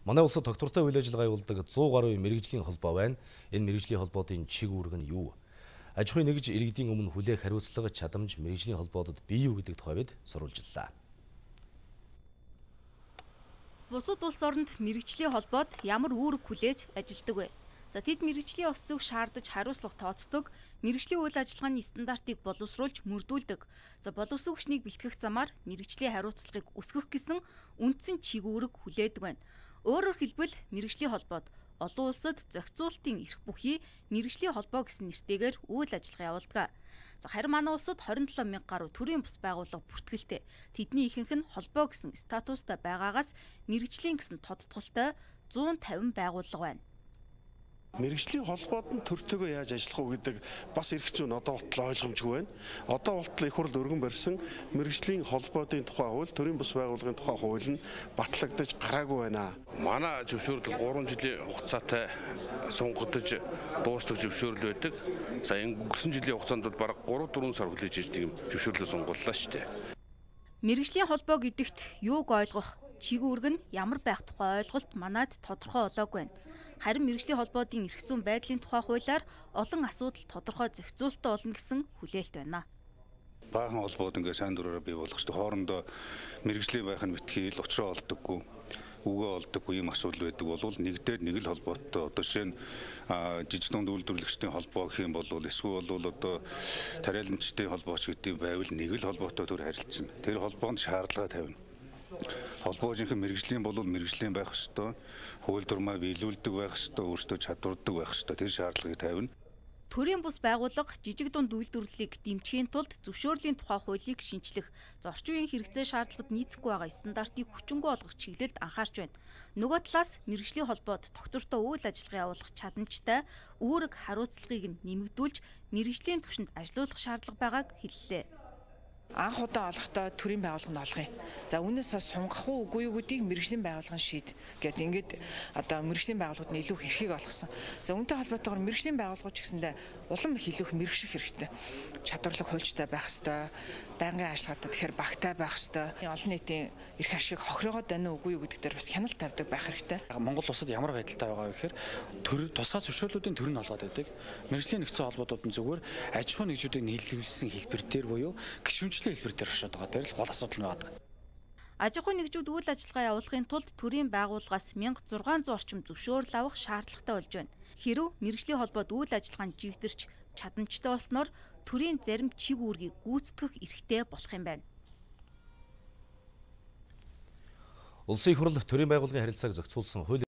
Манай улсад доктортой үйл ажиллагаа явуулдаг 100 гаруй мэрэгжлийн холбоо байна. Энэ мэрэгжлийн холбоодын чиг үүрэг нь юу? Аж ахуйн нэгж иргэдийн өмнө хүлээх хариуцлага чадамж мэрэгжлийн холбоодод бий юу гэдэг тухай бид сурвалжлаа. Бусад улс оронд мэрэгжлийн холбоод ямар үүрэг хүлээж ажилдаг вэ? За тэд мэрэгжлийн ёс зүйг шаардаж хариуцлага тооцдог, мэрэгжлийн үйл ажиллагааны стандартыг боловсруулж мөрдүүлдэг. За боловсон хүчнийг бэлтгэх замаар мэрэгжлийн хариуцлагыг өсгөх гэсэн үндсэн чиг үүрэг хүлээдэг байна. Өөрөөр хэлбэл мэрэгжлийн холбоод олон улсад зохицуулалтын эрх бүхий мэрэгжлийн холбоо гэсэн нэртэйгээр үйл ажиллагаа явуулдаг. За харин манай улсад 27 мянга гаруй төрийн бус байгууллага бүртгэлтэй. Тэдний ихэнх нь холбоо гэсэн статустай байгаагаас мэрэгжлийн гэсэн тодтголтой 150 байгууллага байна. Мэргэжлийн холбоод нь төртөөгөө яаж ажиллах уу гэдэг бас эрх зүйн одоо болтол ойлгомжгүй байна. Одоо болтол их хурл өргөн барьсан мэргэжлийн холбоодын тухай хууль, төрийн бус байгууллагын тухай хууль нь батлагдаж гараагүй байна. Манай зөвшөөрөл 3 жилийн хугацаатай сунгагдаж дуустдаг зөвшөөрөл байдаг. За өнгөрсөн жилийн хугацаанд бол бараг 3-4 сар хүлээж ирдэг юм зөвшөөрлөө сунгууллаа шүү дээ. Мэргэжлийн холбоо гэдэгт юуг ойлгох, чиг үүрэг нь ямар байх тухай ойлголт манад тодорхой болоогүй байна. Харин мэргэжлийн холбоодын эрх зүйн байдлын тухай хуулиар олон асуудал тодорхой зохицуулалттай болно гэсэн хүлээлт байна. Баахан холбоод ингээ сайн дураараа бий болгох шүү дээ. Хоорондоо мэргэжлийн байх нь битгий л учраа олдоггүй, үгээ олдоггүй юм асуудал байдаг бол нэгдээд нэг л холбоотой. Одоо жишээ нь жижиг дунд үйлдвэрлэгчдийн холбоо гэх юм бол эсвэл одоо тариаланчдын холбооч гэдэг байвал нэг л холбоотой төр харилцана. Тэр холбоонд шаардлага тавина. Холбоо жинхэнэ мэргэжлийн бол мэргэжлийн байх ёстой. Хууль дурмаа биелүүлдэг байх ёстой, өөрсдөө чадвардаг байх ёстой. Тэр шаардлагыг тавина. Төрийн бус байгууллага жижиг дунд үйлдвэрлэлийг дэмжихийн тулд зөвшөөрлийн тухай хуулийг шинчлэх, орчин үеийн хэрэгцээ шаардлагад нийцэхгүй байгаа стандартыг хүчингү олгох чиглэлд анхаарч байна. Нөгөө талаас мэргэжлийн холбоод доктортой үйл ажиллагаа явуулах чадамжтай үүрэг хариуцлагыг нэмэгдүүлж мэргэжлийн түвшинд ажилуулах шаардлага байгааг хэллээ. Анх удаа олохдоо төрийн байгууллага нь олгоё. За үүнээс сунгах уу үгүй юу гэдгийг мэргэжлийн байгууллага нь шийд. Гэт ингээд одоо мэргэжлийн байгууллагууд нь илүү хэрхийг олгосон. За үүнтэй холбоотойгоор мэргэжлийн байгууллагууд ч гэсэндээ улам их илүү мэргэжих хэрэгтэй. Чадварлаг хуульчтай байх ёстой. Байнгын ажиллагаатай тэгэхээр багтай байх ёстой. Олон нийтийн эрх ашиг хохирогоод байна уу үгүй юу гэдэг дээр бас хяналт тавьдаг байх хэрэгтэй. Монгол улсад ямар байдалтай байгаа вэ гэхээр тусгай зөвшөөрлүүдийн төр нь олгоод байдаг. Мэргэжлийн нэгдсэн холбоодууд нь зүгээр аж ахуй нэгжүүдийг нийлүүлсэн хэлбэр дээр буюу гишүүнчлэлийн хэлбэр дээр оршоод байгаа. Тэр л гол асуудал нь байдаг. Аж ахуй нэгжүүд үйл ажиллагаа явуулахын тулд төрийн байгууллагаас 1600 орчим зөвшөөрөл авах шаардлагатай болж байна. Хэрв мэргэжлийн холбоод үйл ажиллагаанд жигдэрч чадамжтай болсноор төрийн зарим чиг үүргийг гүйцэтгэх эрхтэй болох юм байна. Улсын их хурл төрийн байгууллагын харилцааг зохицуулсан хууль